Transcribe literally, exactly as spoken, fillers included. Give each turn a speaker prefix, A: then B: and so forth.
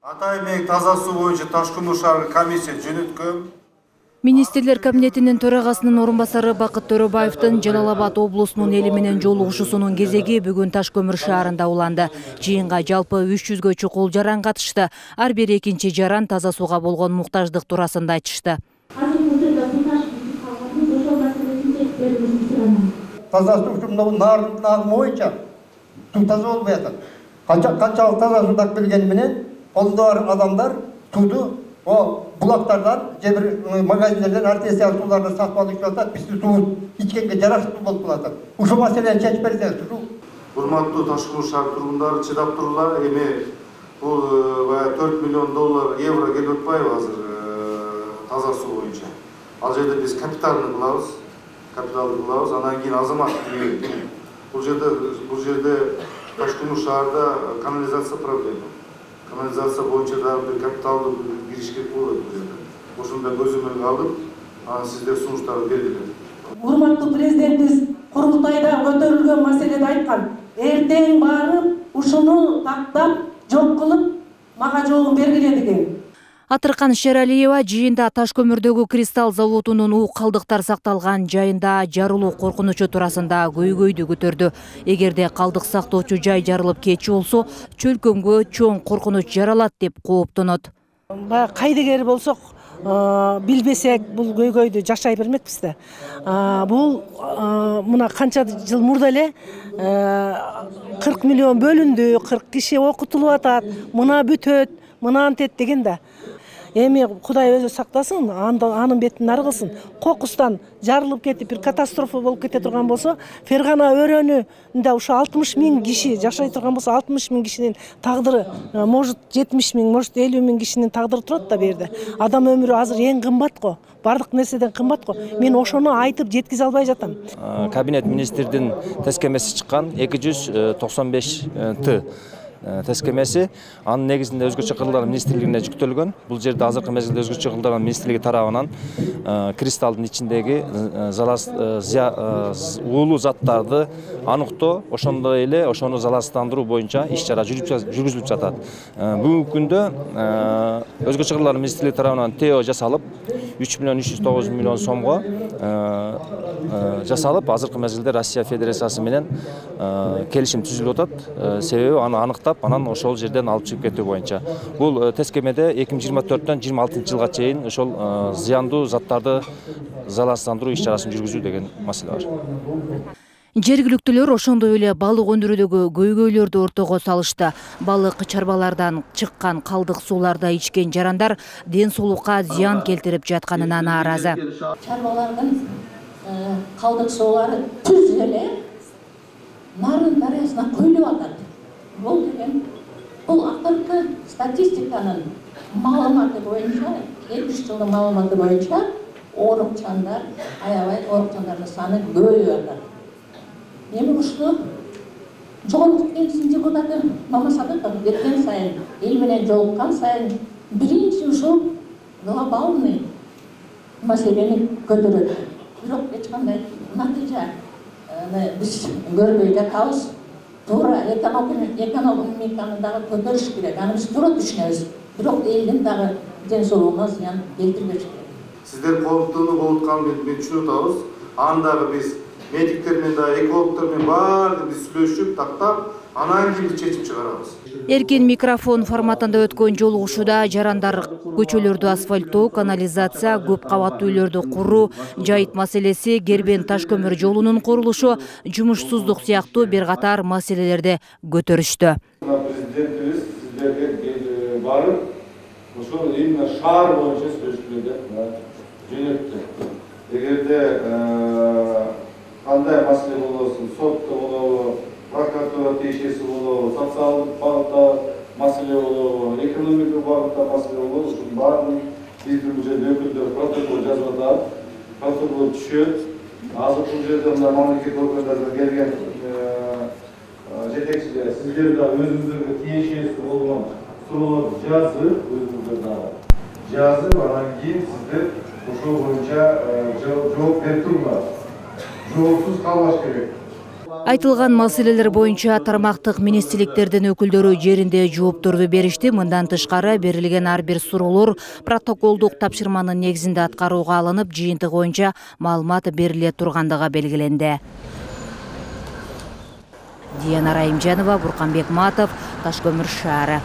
A: Ата эмек таза суу боюнча Ташкөмүр шаарга комиссия жөнөткөн.
B: Министрлер кабинетинин төрагасынын орун басары Бакыт Төрөбаевдин Жалал Абад облусунун эли менен жолугушуусунун кезеги бүгүн Ташкөмүр шаарында уланды. Жыйынга жалпы үч жүзгө чукул жаран катышты. Ар бир экинчи жаран таза сууга болгон муктаждык туурасында айтышты.
C: Таза суу ушундай нардын агымы боюнча суу таза болбой атат. Канчалык таза суу так келгени менен колдо бар адамдар сууду булактардан же бир магазиндерден артезиан сууларды сатып алып ичип атат. Биздин суубуз ичкенге жараштуу болуп калат. Ушул маселени чечип берсеңиз.
A: Урматтуу Ташкөмүр шаар тургундары чыдап турула. Эми бул баягы төрт миллион доллар евро келип атпайбы азыр таза суу боюнча. Ал жерде биз капиталды кылабыз. Капиталды кылабыз. Анан кийин азамат бул жерде бул жерде Ташкөмүр шаарда канализация проблема. Канализация боюнча дагы бир капиталды кириш керек болот бул жерде. Ошондо көзөмөлгө алып, анан сиздер сунуштарды бергиле.
D: Урматтуу президентибиз курултайда көтөрүлгөн маселеде айткан, эртең барып, ушуну тактап, жок кылып, мага жообун бергиле деген.
B: Атыркан Шералиева жыйында Ташкөмүрдөгү кристалл заводунун уу калдыктар сакталган жайында жарылуу коркунучу туурасында көйгөйдү көтөрдү. Эгерде калдык сактоочу жай жарылып кетчү болсо, чөлкөмгө чоң коркунуч жаралат деп кооптонот.
E: Баягы кайдыгер болсок, билбесек бул көйгөйдү жашай бермекпиз да. Бул мына канча жыл мурда эле кырк миллион бөлүндү, кырк киши окутулуп атат, мына бүтөт, мына антет деген да. Эми Кудай өзү сактасын, анын бетин ары кылсын. Кокустан жарылып кетип бир катастрофа болуп кете турган болсо, Фергана өрөөнүндө ушу алтымыш миң киши жашай турган болсо, алтымыш миң кишинин тагдыры, может жетимиш миң, может элүү миң кишинин тагдыры турат да бу жерде. Адам өмүрү азыр эң кымбат го. Бардык нерседен кымбат го. Мен ошону айтып жеткизе албай жатам.
F: Кабинет министрдин тескемеси чыккан эки жүз токсон беш Т тескемеси, анын негизинде өзгөчө кырлар министрлигине жүктөлгөн. Бул жерде азыркы мезгилде өзгөчө кырлар министрлиги тарабынан кристалдын ичиндеги уулуу заттарды аныктоо, ошондой эле ошону залалсыздандыруу боюнча иш чара жүргүзүлүп жатат. Бүгүнкү күндө өзгөчө кырлар министрлиги тарабынан ТО жасалып, үч миллион үч жүз тогуз миллион сомго жасалып, азыркы мезгилде Россия Федерациясы менен келишим түзүлүп атат. Себеби аны аныктап, анан ошол жерден алып чыгып кетүү боюнча. Бул тескемеде эки миң жыйырма төрттөн жыйырма алтынчы жылга чейин ошол зыяндуу заттарды залалсыздандыруу иш чарасын жүргүзүү деген маселе бар.
B: Жергиликтүүлөр ошондой эле балык өндүрүүдөгү көйгөйлөрдү ортого салышты. Балык чарбалардан чыккан калдык сууларда ичкен жарандар ден соолукка зыян келтирип жатканына нааразы.
G: Чарбалардын калдык суулары түз эле Нарын дарыясына көйүлүп атат. Бул деген бул акыркы статистиканын маалыматы боюнча, эки үч жылдын маалыматы боюнча оорукчандар, аябай оорукчандардын саны көбөйүп атат. Эми ушул жогорку кеңештин депутаты Мамасадыков кеткен сайын, эл менен жолуккан сайын биринчи ушул глобалный маселени көтөрөт. Бирок эч кандай натыйжа биз көрбөй жатабыз. Туура экономиканы дагы көтөрүш керек. Аны биз туура түшүнөбүз. Бирок элдин дагы ден соолугуна зыян келтирбеш керек.
A: Сиздер кооптонуу болуп атканын мен түшүнүп атабыз. Аны дагы биз медиктер менен дагы экологдор менен баардыгы биз сүйлөшүп, тактап, анан кийин чечим чыгарабыз.
B: Эркин микрофон форматында өткөн жолугушууда жарандар көчөлөрдү асфальттоо, канализация, көп кабаттуу үйлөрдү куруу, жайыт маселеси, Кербен Ташкөмүр жолунун курулушу, жумушсуздук сыяктуу бир катар маселелерди көтөрүштү.
H: Президентибиз сиздерге барып, ошол именно шаар боюнча сүйлөшүүлөрдү жөнөттү. Эгерде кандай маселе болосун, сотто болобу, прокуратура тиешеси болобу, социалдык багытта маселе болобу, экономикалык багытта маселе болобу, ушунун баарын биздин бул жерде өкүлдөр протокол жазып атат, протокол түшөт. Азыр бул жерде мына мамлекет органдарынан келген жетекчилер сиздер да өзүңүздөргө тиешеси болгон суроолорду жазып, өзүңүздөр дагы жазып, анан кийин сиздер ошол боюнча жооп берип туруңар. Жоопсуз калбаш керек.
B: Айтылган маселелер боюнча тармактык министрликтердин өкүлдөрү жеринде жоопторду беришти. Мындан тышкары берилген ар бир суроолор протоколдук тапшырманын негизинде аткарууга алынып, жыйынтык боюнча маалымат бериле тургандыгы белгиленди. Диана Райымжанова, Бурканбек Матов, Таш көмүр шаары.